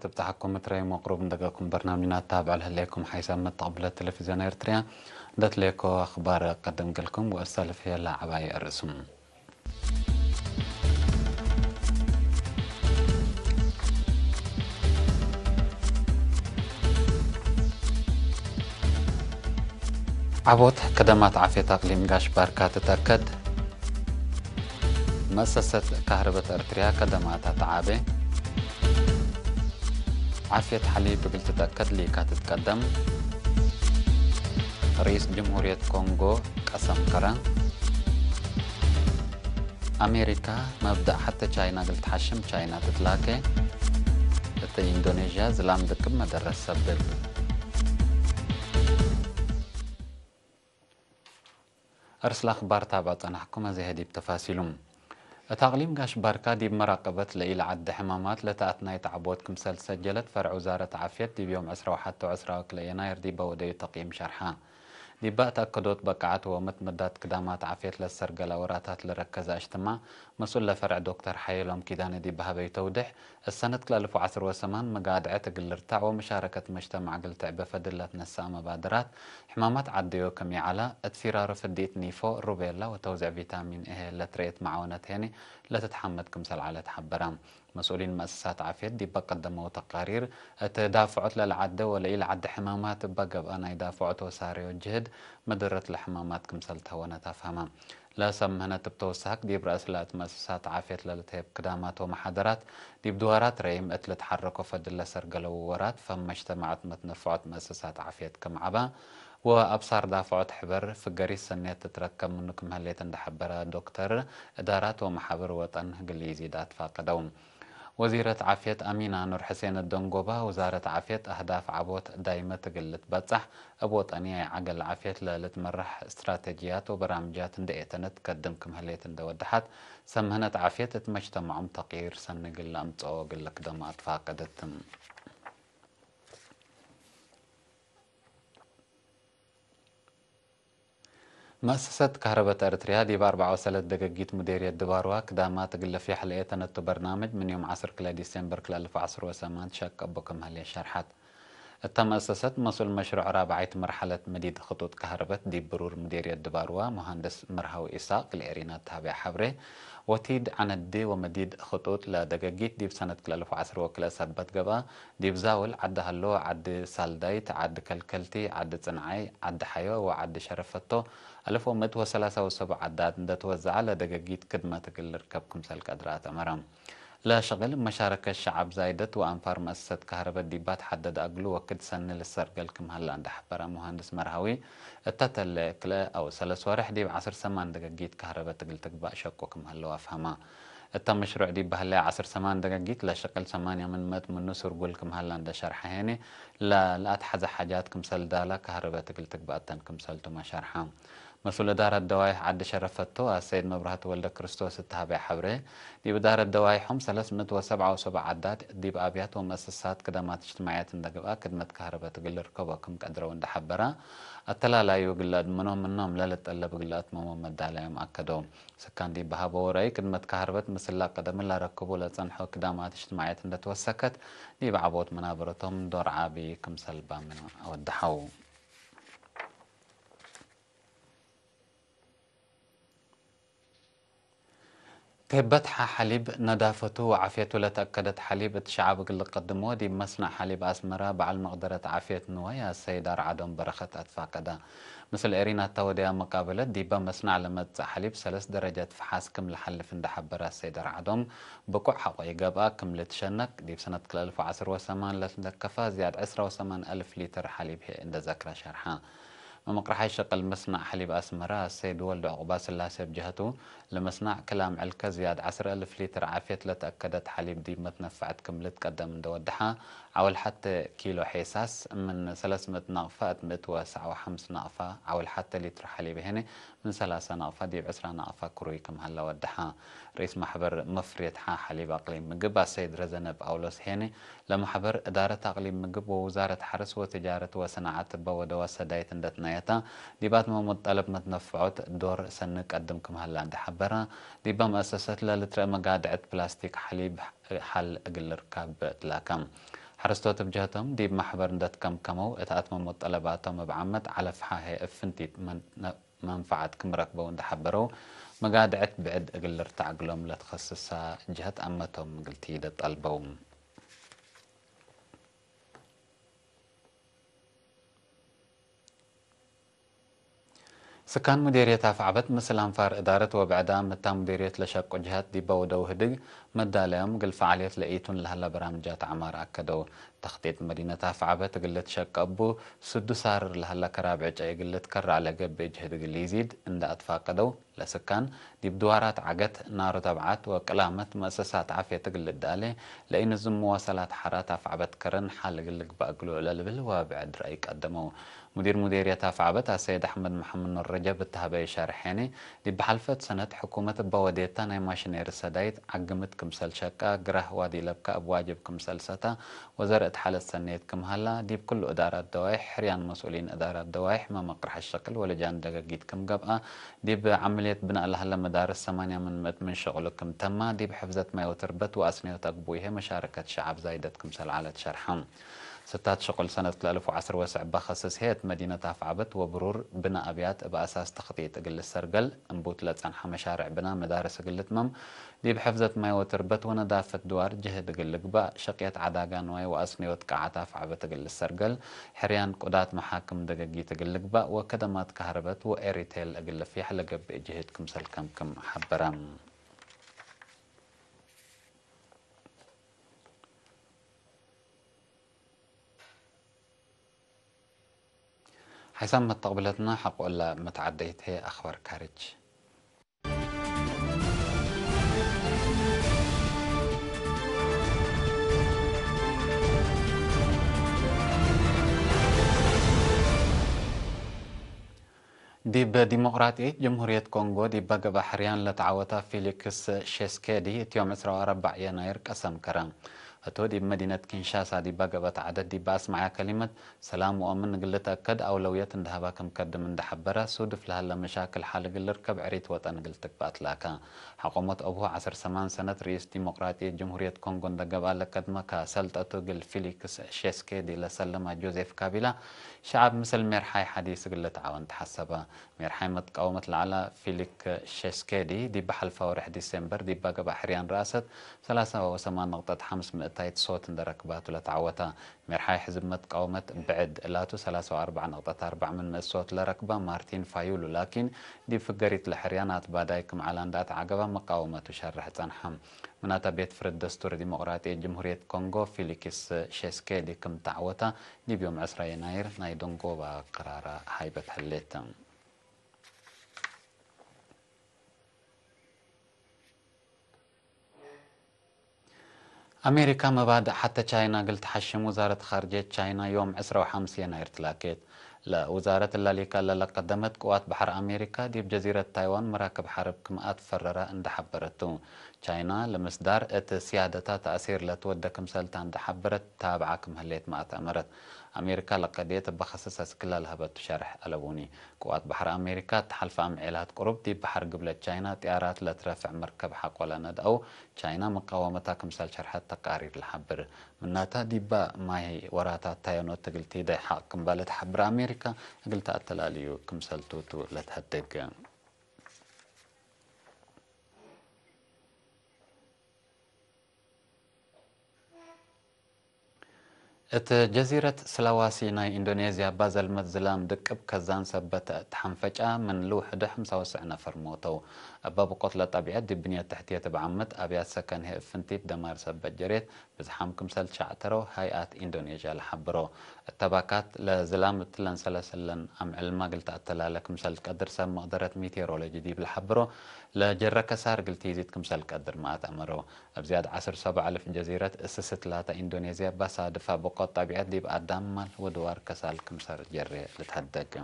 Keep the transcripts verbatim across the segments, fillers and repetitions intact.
ትብጻሐኩም እት ረዩም ወቅሩብ እንደገኩም በርናምጅና ታብዕ ለህሌኩም ሓይሳብ መተቅብለት ቴሌቪዝዮን ኤርትርያ። እንደትሌኮ አኽባር ቀድም ገልኩም ወእሳልፍ ህዬ ለዐባይ አርእሱም። ዐቦት ከደማት ዓፍየት አቅሊም ጋሽ ባርካ ትትአከድ። መእሰሰት ካህርበት ኤርትርያ ከደማታ ተዓቤ። ዓፍየት ሐሊብ እግል ትትአከድ ሊካ ትትቀደም። ርኢስ ጅምሁርየት ኮንጎ ቀሰም ከረ። አሜሪካ፣ መብደእ ሐቴ ቻይና እግል ትሐሽም ቻይና ትትላኬ። እት ኢንዶኔዥያ፣ ዝላም ድቅብ መደረስ ሰብብ። እርስ ለአኽባር ታብዕ ጸናሕኩም፣ አዜ ህዲብ ተፋሲሉም። እት አቅሊም ጋሽ ባርካ ዲብ መራቀበት ለኢለዐደ ሕማማት ለተአትናይት ዐቦት ክምሰል ሰጀለት ፈርዕ ውዛረት ዓፍየት ዲብ ዮም ዕስራ ወሐቴ ወዕስራ ወክልኤ የናይር ዲበ ወደዩ ተቅይም ሸርሐ። ዲበ እት አከዶት በቃዐት ወመትመዳት ክዳማት ዓፍየት ለሰርገለ ወራታት ለረከዘ እጅትማዕ መስኡል ለፈርዕ ዶክተር ሐየሎም ኪዳነ ዲብ ሀበዩ ተውዴሕ፣ እሰነት ክልኤ አልፍ ወዐስር ወሰማን መጋድዐት እግል ልርታዕ ወመሻረከት መጅተማዕ እግል ትዕቤ ፈድል ለትነሰአ መባደራት ሕማማት ዐደዮ ክም ኢዐላ፣ እት ፊራሮ ፍዲት ኒፎ፣ ሩቤላ ወተውዜዕ ቪታሚን ኤ ለትረኤት መዓወነት ሄኒ ለትትሐመድ ክምሰል ዐለት ሐበረ። መስኡሊን መአሰሳት ዓፍየት ዲበ ቀደመው ተቃሪር፣ እት ዳፍዖት ለለዐደ ወለኢለዐደ ሕማማት እበ ገብአ ናይ ዳፍዖት ወሳረዮ ጅህድ መደረት ለሕማማት ክምሰል ተሀወነት አፍሀመ። ለሰብ ምህነት እብ ተወሳክ ዲብ ረአስ ለእት መአሰሳት ዓፍየት ለልትሄብ ክዳማት ወመሓደራት፣ ዲብ ድዋራት ረይም እት ልትሐረኮ ፈድል ለሰርገለው ወራት ፈም መጅተማዕ እት መትነፈዖት መአሰሳት ዓፍየት ክም ዐበ ወአብሳር ዳፍዖት ሕበር ፍገሪት ሰኔት ትትረከብ ምኑ ክም ህሌት እንደ ሐበረ ዶክተር፣ እዳራት ወመሓብር ወጠን እግል ኢዚድ አትፋቀደው። ወዚረት ዓፍየት አሚና ኑር ሕሴን እት ደንጎባ፣ ውዛረት ዓፍየት አህዳፍ ዐቦት ዳይመት እግል ልትበጸሕ፣ እብ ወጠንያይ ዐገል ዓፍየት ለልትመራሕ ስትራተጅያት ወበራምጃት እንዴ ኤተነት ትከድም ክም ህሌት እንዴ ወደሐት፣ ሰምህነት ዓፍየት እት መጅተመዖም ተቅዪር ሰኒ እግል ለአምጽኦ እግል ልክደሞ አትፋቀደት። መአሰሰት ከህረበት ኤረትርያ ዲብ አርበዕ ወሰለት ደገጊት ሙዴርየት ድባርዋ ክዳማት እግል ለፍየሕ ለኤተነቱ በርናምጅ ምን ዮም ዐስር ክልኤ ዲሴምበር ክልኤ አልፍ ወዐስር ወሰማን ትሸቀቦ ክም ህሌት ሸርሐት። እተ መአሰሰት መስኡል መሽሩዕ ራብዓይት መርሐለት መዲድ ክጡጥ ከህረበት ዲብ ብሩር ሙዴርየት ድባርዋ ሙሃንድስ መርሃዊ ኢሳቅ ለኤሪና ተሀቤ ሐብሬ፣ ወቲድ ዐነዲ ወመዲድ ክጡጥ ለደገጊት ዲብ ሰነት ክልኤ አልፍ ወዐስር ወክልኤ ሰበት ገብአ፣ ዲብ ዛውል፣ ዐዲ ሀሎ፣ ዐዲ ሳልዳይት፣ ዐዲ ከልከልቲ፣ ዐዲ ጽንዓይ፣ ዐዲ ሐዮ ወዐዲ ሸረፈቶ፣ አልፍ ወምእት ወሰላሳ ወሰቡ ዐዳት እንደ ትወዘዐ ለደገጊት ክድመት እግል ልርከብ ክምሰል ቀድረ አትአመረ። ለሸቅል መሻረከት ሸዐብ ዛይደት ወአንፋር መአሰሰት ከህረበት ዲባ ተሐደድ አግሉ ወክድ ሰኒ ልሰርገል ክም ሀላ እንደ ሐበረ ሙሃንድስ መርሃዊ፣ እተ ተለ ክልኤ አው ሰለስ ወሬሕ ዲብ ዐስር ሰማን ደገጊት ከህረበት እግል ትግባእ ሸቁ ክም ሀለው አፍሀማ። እተ መሽሩዕ ዲብ በህለየ ዐስር ሰማን ደገጊት ለሸቅል ሰማንያ ምን ምእት ምኑ ስርጉል ክም ሀላ እንደ ሸርሐ ሄኔ፣ ለ-፣ ለአትሐዘ ሓጃት ክምሰል ዳላ ከህረበት እግል ትግባእ ተን ክምሰልቱመ ሸርሐ። መስኡል እዳረት ደዋይሕ ዐዲ ሸረፈቶ አሰይድ መብርሀቱ ወልደክርስቶስ እት ሀቤ ሐብሬ፣ ዲብ እዳረት ደዋይሖም ሰለስ ምእት ወሰብዓ ወሰቡ ዐዳት ዲብ አብያት ወመአሰሳት ክደማት እጅትማዕየት እንደ ገብአ ክድመት ከህረበት እግል ልርከቦ ክም ቀድረው እንደ ሐበረ፣ አተላላዩ እግል ለአድምኖ ምኖም ለልጠለብ እግል ለአትመሞ መዳለዮም አከደው። ስካን ዲብ በሀበው ረአይ፣ ክድመት ከህርበት ምስል ለቀደምን ለረክቡ ለጸንሖ ክዳማት እጅትማዕየት እንደ ትወሰከት፣ ዲብ ዐቦት መናበረቶም ዶር ዐቢ ክምሰል ባምን አወደሐው። ቴበትሐ ሐሊብ ነዳፈቱ ወዓፍየቱ ለተአከደት ሐሊብ እት ሸዐብ እግል ልቀድሞ፣ ዲብ መስነዕ ሐሊብ አስመረ በዐል መቅደረት ዓፍየት ንዋይ አሰይድ አርዓዶም በረኸት አትፋቀደ። ምስል ኤሪናታ ወደያ መቃበለት፣ ዲበ መስነዕ ለመጽእ ሐሊብ ሰለስ ደረጀት ፈሓስ ክም ለሐልፍ እንደ ሐበረ አሰይድ አርዓዶም፣ ብቁዕ ሐቆ ኢገብአ ክም ልትሸነክ፣ ዲብ ሰነት ክልኤ አልፍ ወዐስር ወሰማን ለትለከፈ ዝያድ ዕስራ ወሰማን አልፍ ሊትር ሐሊብ ህዬ እንደ ዘክረ ሸርሐ። መምቅርሓይ ሸቅል መስነዕ ሐሊብ አስመረ አሰይድ ወልድ ዑቅባስላሴ እብ ጀሀቱ፣ ለመስነዕ ክል አምዕልከ ዝያድ ዐስር አልፍ ሊትር ዓፍየት ለተአከደት ሐሊብ ዲብ መትነፈዐት ክም ልትቀደም እንደ ወደሐ፣ ዐውል ሐቴ ኪሎ ሔሳስ ምን ሰለስ ምእት ናቅፋ እት ምእት ወሰዕ ወሐምስ ናቅፋ፣ ዐውል ሐቴ ሊትር ሐሊብ ሄኔ ምን ሰላሳ ናቅፋ ዲብ ዕስራ ናቅፋ ክሩይ ክም ሀለ ወደሐ። ርኢስ ማሕበር መፍርየት ሐ ሐሊብ አቅሊም ምግብ አሰይድ ረዘነ ጳውሎስ ሄኔ፣ ለማሕበር እዳረት አቅሊም ምግብ ወውዛረት ሐርስ ወትጃረት ወሰናዐት እበ ወደዋ ሰዳይት እንደ ትናየተ፣ ዲብ አትመሙት ጠለብ መትነፍዖት ዶር ሰኒ ቀድም ክም ሀላ እንደ ሐበረ፣ ዲበ መአሰሰት ለልትረአ መጋድዐት ፕላስቲክ ሐሊብ ሐል እግል ልርካብ ትላከ። ሐረስቶት እብ ጀህቶም ዲብ መሕበር እንዴ ትከምከመው እት አትመሞት ጠለባቶም እብ ዓመት ዐለፍ ሐሄ እብ ፍንቲት መን-፣ መንፈዐት ክም ረክበው እንዴ ሐበረው፣ መጋድዐት ብዕድ እግል ልርተዕ እግሎም ለትከስሳ ጀህት አመቶም እግል ቲደ ጠልበው። ስካን ሙዴርየት አፍዐበት ምስል አንፋር እዳረት ወብዕዳም እታ ሙዴርየት ለሸቁ ጅሃት ዲበ ወደው ህድግ መዳለዮም እግል ፈዓልየት ለኢቱን ለሀላ በራምጃት ዐማር አከደው። ተክጢጥ መዲነት አፍዐበት እግል ልትሸቀ እቡ፣ ስዱ ሳርር ለሀላ ከራብ ዕጨይ እግል ልትከረዕ ለገብእ ጅህድ እግል ኢዚድ እንደ አትፋቀደው፣ ለስካን ዲብ ድዋራት ዐገት፣ ናሩ ተብዓት ወቅላመት መእሰሳት ዓፍየት እግል ልዳሌ፣ ለኢንዝም መዋሰላት ሐራት አፍዐበት ከረን ሐል እግል ልግባእ እግሉ ለልብል ወብዕድ ረአይ ቀደመው። ሙዲር ሙዴርየት አፍዐበት አሰይድ አሕመድ መሐመድ ኑር ረጀብ እት ሀበየ ሸርሐኒ፣ ዲብ ሐልፈት ሰነት ሕኩመት እበ ወዴታ ናይ ማሽኔሪ ሰዳይት ዐግምት ክምሰል ሸቃ፣ ግራህ ዋዲ ለብካ እብ ዋጅብ ክምሰል ሰታ፣ ወዘር እት ሐለት ሰኔት ክም ሀላ፣ ዲብ ክሉ እዳራት ደዋይሕ፣ ሕርያን መስኡሊን እዳራት ደዋይሕ፣ መመቅርሐ ሸቅል ወለጃን ደገጊት ክም ገብአ፣ ዲብ ዐምልየት ብናእ ለሀለ መዳርስ ሰማንያ ምን ምእት ምን ሸቅሉ ክም ተማ፣ ዲብ ሕፍዘት ማይ ወትርበት ወአስንዮት አግቡይሄ መሻረከት ሸዐብ ዛይደት ክምሰል ዐለት ሸርሐ። ስታት ሸቁል ሰነት ክልኤ አልፍ ወዐስር ወሰዕ በከስስ ህየት መዲነት አፍዐበት ወብሩር ብና አብያት እብ አሳስ ተክጢጥ እግል ልሰርገል፣ እንቡት ለጸንሐ መሻርዕ ብና መዳርስ እግል ልትመም፣ ዲብ ሕፍዘት ማይ ወትርበት ወነዳፈት ድዋር ጅህድ እግል ልግባእ፣ ሸቅየት ዐዳጋ ንዋይ ወአስንዮት ቃዓት አፍዐበት እግል ልሰርገል፣ ሕርያን ቁዳት መሓክም ደገጊት እግል ልግባእ ወከደማት ከህረበት ወኤሪቴል እግል ልፍየሕ ለገብእ ጅህድ ክምሰል ከምክም ሐበረ። ሐይሳም መተቅብለትና ሐቆ እለ መትዓደይት ህዬ አኽባር ካርጅ። ዲብ ዲሞቅራጥየት ጀምሁርየት ኮንጎ ዲበ ገብአ ሕርያን ለተዐወተ ፊሊክስ ሼስኬዲ እት ዮም ዕስራ ወአርበዕ የናይር ቀሰም ከረ። ህቱ ዲብ መዲነት ኪንሻሳ ዲበ ገብአት ዐደት ዲበ አስመዐያ ከሊመት፣ ሰላም ወአምን እግል ልትአከድ አውለውየት እንዴ ሀበ ክም ከድም እንዴ ሐበረ፣ ሱድፍ ለሀለ መሻክል ሐል እግል ልርከብ ዕሪት ወጠን እግል ትግበእ አትላከ። ሐቆመት አቡሁ ዐስር ሰማን ሰነት ርኢስ ዲሞቅራጥየት ጀምሁርየት ኮንጎ እንዴ ገብአ ለከድመ ከሰልጠቱ እግል ፊሊክስ ሼስኬዲ ለሰለመ ጆዜፍ ካቢላ፣ ሸዐብ ምስል ሜርሓይ ሐዲስ እግል ልትዓወን ተሐሰበ። ሜርሓይ መትቃወመት ለዐለ ፊሊክ ሼስኬዲ፣ ዲብ ሐልፈ ወርሕ ዲሴምበር ዲብ ገብአ ሕርያን ረአሰት፣ ሰላሳ ወሰማን ነቅጠት ሐምስ ምእታይት ሶት እንዴ ረክባቱ ለተዐወተ። ሜርሓይ ሕዝብ መትቃወመት ብዕድ እላቱ፣ ሰላሳ ወአርበዕ ነቅጠት አርበዕ ምን ምእት ሶት ለረክበ ማርቲን ፋዩሉ ላኪን፣ ዲብ ፍገሪት ለሕርያን አትባዳይ ክም ዐለ እንዴ አትዐገበ መቃወመቱ ሸርሕ ጸንሐ። ምናተ ቤት ፍርድ ደስቱር ዲሞቅራጥየት ጅምሁርየት ኮንጎ፣ ፊሊክስ ሼስኬዲ ክም ተዐወተ፣ ዲብ ዮም ዕስራ የናይር ናይ ደንጎባ ቅራረ ሃይበት ህሌት። አሜሪካ መባድእ ሐቴ ቻይና እግል ተሐሽም ውዛረት ኻርጅየት ቻይና ዮም ዕስራ ወሐምስ የናይር ትላኬት። ለውዛረት እለ ሊከ እለ ለቀደመት ቅዋት በሐር አሜሪካ ዲብ ጀዚረት ታይዋን መራክብ ሐርብ ክም አትፈረረ እንዴ ሐበረት ቱ። ቻይና ለምስዳር እት ስያደታ ተእሲር ለትወደ ክምሰልታ እንዴ ሐበረት ታብዐ ክም ህሌት መአተአመረት። አሜሪካ ለቀድየት እበ ከሰስ አስክላ ለሀበቱ ሸርሕ አለቡኒ። ቅዋት በሐር አሜሪካ እት ሐልፈ አምዔላት ቅሩብ ዲብ በሐር ግብለት ቻይና ጥያራት ለትረፍዕ መርከብ ሐቆ ለነድአው ቻይና መቃወመታ ክምሰል ሸርሐት ተቃሪር ለሐብር። ምናተ ዲበ ማይ ወራታት ታየኖት እግል ቲደይ ሐቅ ክም ባለ ተሐብር አሜሪካ እግል ተአተላልዩ ክምሰል ቱ ቱ ለትሀደግ። እት ጀዚረት ስላዋሲ ናይ ኢንዶኔዝያ ባዘልመት ዝላም ድቅብ ከዛን ሰበት ተሐንፈጫ፣ ምን ልውሕዱ ሐምሳ ወትስዕ ነፈር ሞተው። እበ ብቆት ለጠቢዐት ዲብ ብንየት ተሕትየት እብ ዓመት አብያት ሰከን ህይ እብ ፍንቲት ደማር ሰበት ጀሬት፣ ብዝሓም ክምሰል ትሸዕተረው ሀይአት ኢንዶኔዥያ ለሐብሮ። እተ ባካት ለዝላም እትለን ሰለሰለን አምዕልመ እግል ተአተላለ ክምሰል ትቀድር ሰብ መቅደረት ሚቴሮሎጂ ዲብ ለሐብሮ፣ ለጀረ ከሳር እግል ቲዚድ ክምሰል ትቀድር መአተአመረው። እብ ዝያድ ዐስር ሰብዕ አልፍ ጀዚረት እስስት ላተ ኢንዶኔዝያ እበ ሳድፈ ብቆት ጠቢዐት ዲብ አዳም ማል ወድዋር ከሳል ክምሰል ጀሬ ልትሀደግ።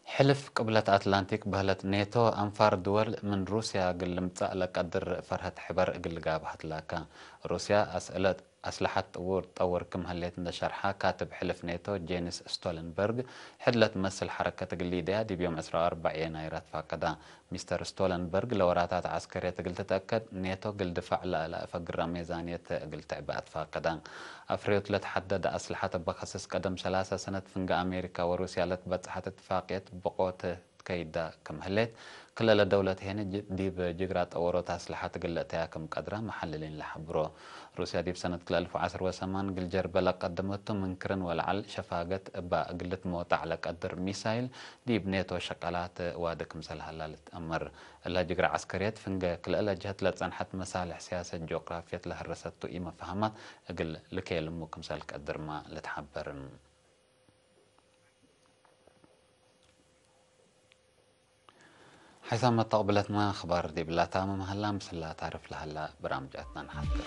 ሕልፍ ቅብለት አትላንቲክ በህለት ኔቶ፣ አንፋር ድወል ምን ሩስያ እግል ልምጸእ ለቀድር ፈርሀት ሕበር እግል ልጋብእ ሀትላከ። ሩስያ አስእለት አስለሐት ጥውር ጠውር ክም ህሌት እንደ ሸርሐ፣ ካትብ ሕልፍ ኔቶ ጄንስ ስቶለንበርግ፣ ሕድ ለትመስል ሐረከት እግል ሊደያ ዲብ ዮም ዕስራ ወአርበዕ የናይር አትፋቀዳ። ሚስተር ስቶለንበርግ፣ ለወራታት ዐስከርየት እግል ትትአከድ፣ ኔቶ እግል ድፋዕ ለአለአፈግረ ሜዛንየት እግል ትዕበ አትፋቀዳ። አፍረዮት ለትሐደደ አስለሐት እበ ከስስ ቀደም ሰላሰ ሰነት ፍንገ አሜሪካ ወሩስያ ለትበጽሐት እትፋቅየት ብቆት ትከይዳ ክም ህሌት፣ ክልኤ ደውለት ሄነ ጅ-፣ ዲብ ጅግራ ጠወሮት አስለሐት እግል ለእተያ ክም ቀድራ መሐልሊን ለሐብሮ። ሩስያ ዲብ ሰነት ክልኤ አልፍ ወዐስር ወሰማን እግል ጀርበ ለቀደመቱ ምን ክርን ወለዐል ሸፋገት እባ እግል ልትሞጣዕ ለቀድር ሚሳይል ዲብ ኔቶ ሸቀላት ዋዲ ክምሰል ሀላ ልትአመር። እላ ጅግራ ዐስከርየት ፍንገ ክልኤ ለጀሀት ለጸንሐት መሳልሕ ስያሰት ጂኦግራፍየት ለሀረሰቱ ኢመፋህማት እግል ልኬልሙ ክምሰል ቀድርማ ልትሐበር። ሐይሳም መተቅብለትመ አኽባር ዲብላ ታምም ሀላ፣ ምስላ ታርፍ ለሀላ በራምጃትና ነሓፍር።